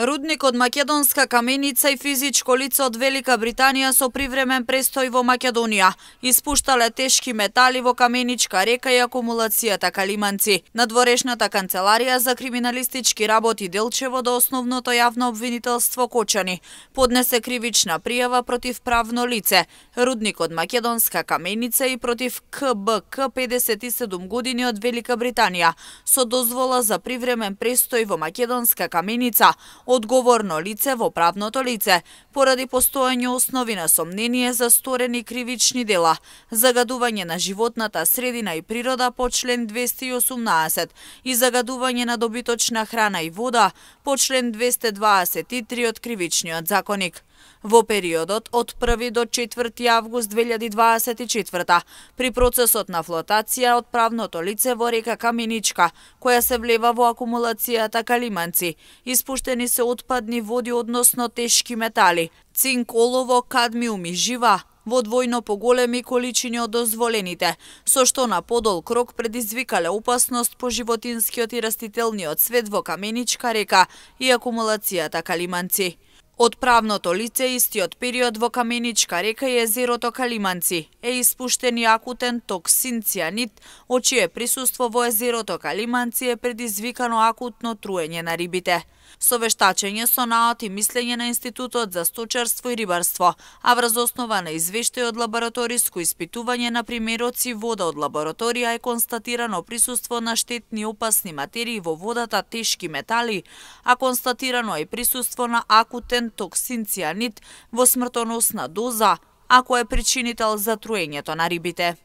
Рудник од македонска каменица и физичко лице од Велика Британија со привремен престој во Македонија испуштале тешки метали во Каменичка река и акумулацијата Калиманци. Надворешната канцеларија за криминалистички работи Делчево до основното јавно обвинителство Кочани поднесе кривична пријава против правно лице, Рудник од македонска каменица и против КБК 57 години од Велика Британија со дозвола за привремен престој во македонска каменица, одговорно лице во правното лице, поради постоење основи на сомнение за сторени кривични дела, загадување на животната средина и природа по член 218 и загадување на добиточна храна и вода по член 223 од Кривичниот законик. Во периодот од 1 до 4 август 2024 при процесот на флотација од правното лице во река Каменичка, која се влева во акумулацијата Калиманци, испуштени се отпадни води односно тешки метали, цинк, олово, кадмиум и жива, во двојно поголеми количини од дозволените, со што на подол крок предизвикале опасност по животинскиот и растителниот свет во Каменичка река и акумулацијата Калиманци. Од правното лице истиот период во Каменичка река и езерото Калиманци е испуштен и акутен токсин цијанид, од чие присуство во езерото Калиманци е предизвикано акутно труење на рибите. Со вештачење со наот и мислење на Институтот за сточарство и рибарство, а врз основа на извештај од лабораториско испитување на примероци вода од лабораторија е констатирано присуство на штетни и опасни материи во водата, тешки метали, а констатирано е и присуство на акутен токсин цијанид во смртоносна доза, ако е причинител за труењето на рибите.